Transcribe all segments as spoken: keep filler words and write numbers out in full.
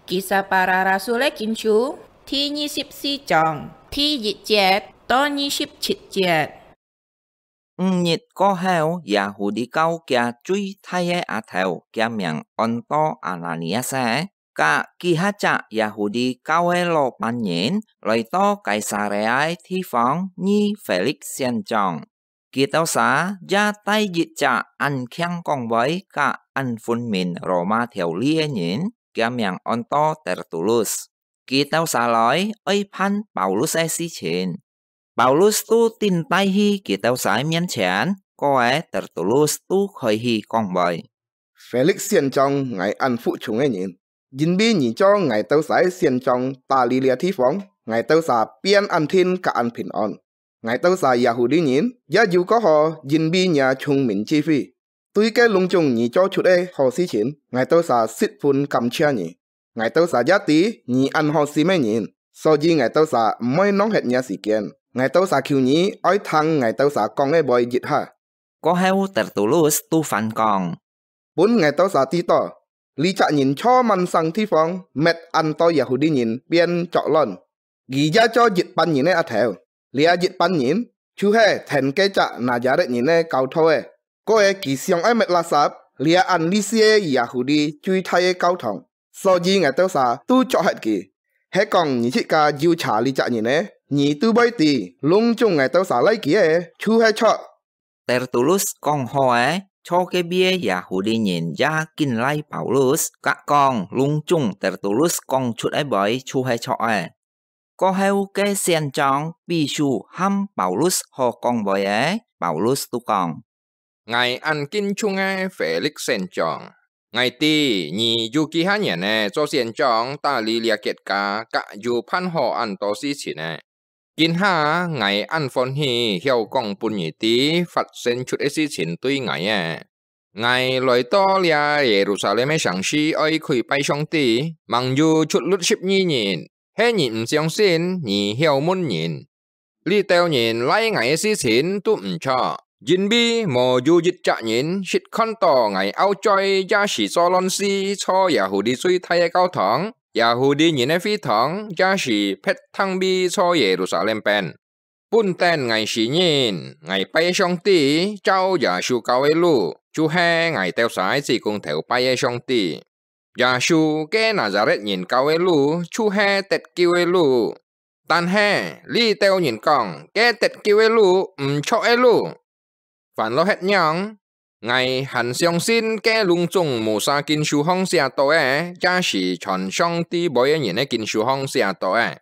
Kisah Para Rasul个經書第二十四章第一節到二十七節。五日過後，耶戶利教厥最大个阿頭，厥名安到亞拿尼亞斯，佮幾下隻耶戶利教个老闆人，來到該撒利亞地方遇腓力仙長。 佢兜儕也帶一隻恁慶講話佮恁分明羅馬條例个人，厥名安到Tertulus。佢兜儕來愛辦Paulus个事情。Paulus都躡帶去佢兜儕个面前，過仔Tertulus都開始講話：腓力仙長，𠊎恁服從个人，因為你做𠊎兜儕个仙長，打理這地方，𠊎兜儕便恁定佮恁平安。 𠊎兜儕耶戶利人也有過好，因為若聰明智慧，對該攏總你做出个好事情，𠊎兜儕十分感謝你。𠊎兜儕也知你恁好心个人，所以𠊎兜儕毋會浪忒若時間。𠊎兜儕求你愛聽𠊎兜儕講个話一下。過後Tertulus都還講： 分𠊎兜儕知道，這隻人坐滿省地方，搣恁多耶戶利人變作亂。佢也做一班人个阿頭，這一班人就係跈該隻拿撒勒人个教徒个。過仔佢想愛搣垃圾這恁利世个耶戶利最大个教堂，所以𠊎兜儕都捉核佢。係講你自家有查這隻人呢，你都會知，攏總𠊎兜儕拉佢个就係著。 Tertulus講好仔，坐該位个耶戶利人也緊拉Paulus，佮講攏總Tertulus講出个話就係著个。過後該仙長、秘書喊Paulus好講話仔，Paulus都講： 𠊎恁敬重个腓力仙長，𠊎知你有幾下年仔做仙長打理這國家，佮有辦好恁多事情仔。今下𠊎恁歡喜曉講分你知發生出个事情對𠊎仔。𠊎來到這耶路撒冷个城市愛跪拜上帝，吂有出入十二日，係你毋相信，你曉問人。 這兜人拉𠊎个事情都毋著，因為無有一隻人識看到𠊎拗嘴也係做亂事坐耶戶利最大个教堂，耶戶利人个會堂，也係別廳位坐耶路撒冷邊。本等𠊎死人，𠊎拜上帝，照耶穌教个路，就係𠊎兜儕个子公頭拜个上帝。 耶穌該拿撒勒人教个路，就係得救个路。但係，這兜人講，該得救个路毋著个路。還落歇仰，𠊎還相信該攏總Musa經書項寫到个，也係傳上帝話个人个經書項寫到个。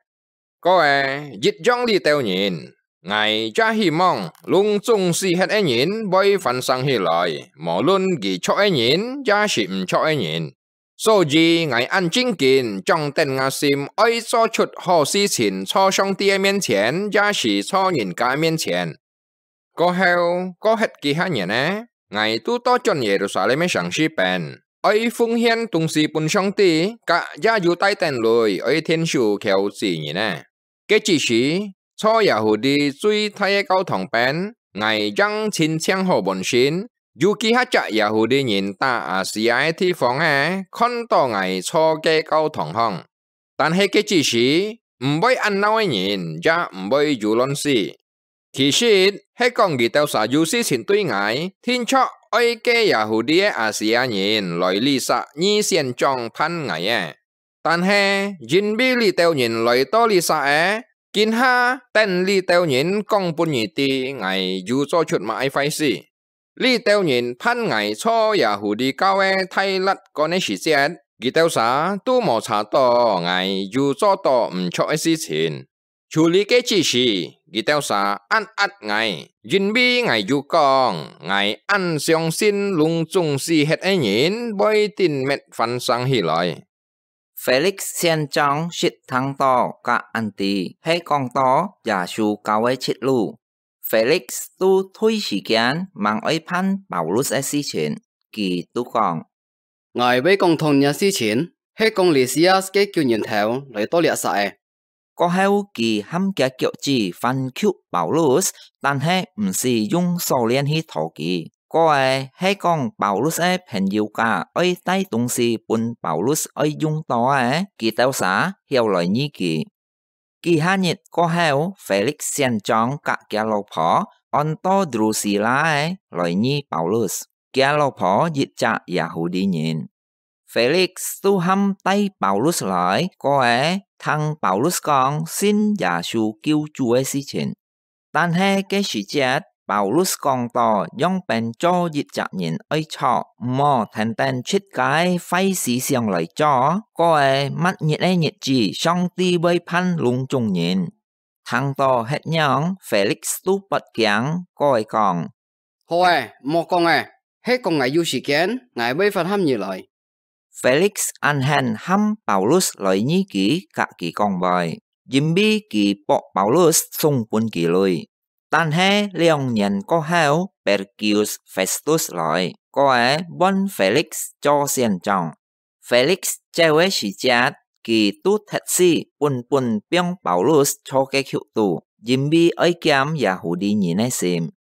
過仔，一樣這兜人，𠊎也希望攏總死忒个人會翻生起來，無論佢著个人也係毋著个人。所以𠊎恁正經，掌等吾心，愛做出好事情，坐上帝个面前，也係坐人家个面前。 過後，過忒幾下年仔，𠊎都倒轉耶路撒冷个城市邊，愛奉獻東西分上帝，佮也有帶等鐳愛𢯭手求子人仔。該之時，坐耶戶利最大个教堂邊，𠊎正親像好門信，有幾下隻耶戶利人打亞細亞个地方仔，看到𠊎坐該教堂項。 但係該之時，毋會恁鬧个人，也毋會有亂事。其實，係講佢兜儕有事情對𠊎，定著愛該耶戶利个亞細亞人來這儕二仙長辦𠊎个。但係，因為這兜人來到這儕仔，今下等這兜人講分你知，𠊎有做出麼个壞事。 這兜人辦𠊎坐耶戶利教个大律官个時節，佢兜儕都無查到𠊎有做到毋著个事情。就這个之時，佢兜儕恁壓𠊎，因為𠊎有講，𠊎恁相信攏總死忒个人會頂搣翻生起來。 Felix先生識聽到甲恁知，係講到耶穌教个出路。Felix都推時間吂愛辦Paulus个事情，佢都講：「𠊎會講通若事情，係講Lisias个九人頭來到這煞仔。」過後，佢喊厥腳子反求Paulus，但係毋使用鎖鏈去拖佢。該係講Paulus个朋友家愛帶東西分Paulus愛用到个，佢兜儕曉來覕佢。幾下日過後，Felix選將佮厥老婆安到Drusilla个來覕Paulus，厥老婆一隻Yahudi人。Felix都喊帶Paulus來，過个聽Paulus講信耶穌救主个事情。但係該時節，Paulus講到仰般做一隻人愛著，毋好跈等自家个壞思想來做，過个末日个日子，上帝會判攏總人。聽到歇仰，Felix都發驚，過个講：「好个，莫講个，係講𠊎有時間，𠊎會發喊你來。」Felix恁興喊Paulus來覕佢，佮佢講話，因為佢博Paulus送分佢鐳。但係兩年過後，Porcius Festus來，過个換Felix做選將。Felix走个時節，佢都特使本本放Paulus坐个轎肚，因為愛減Yahudi人个心。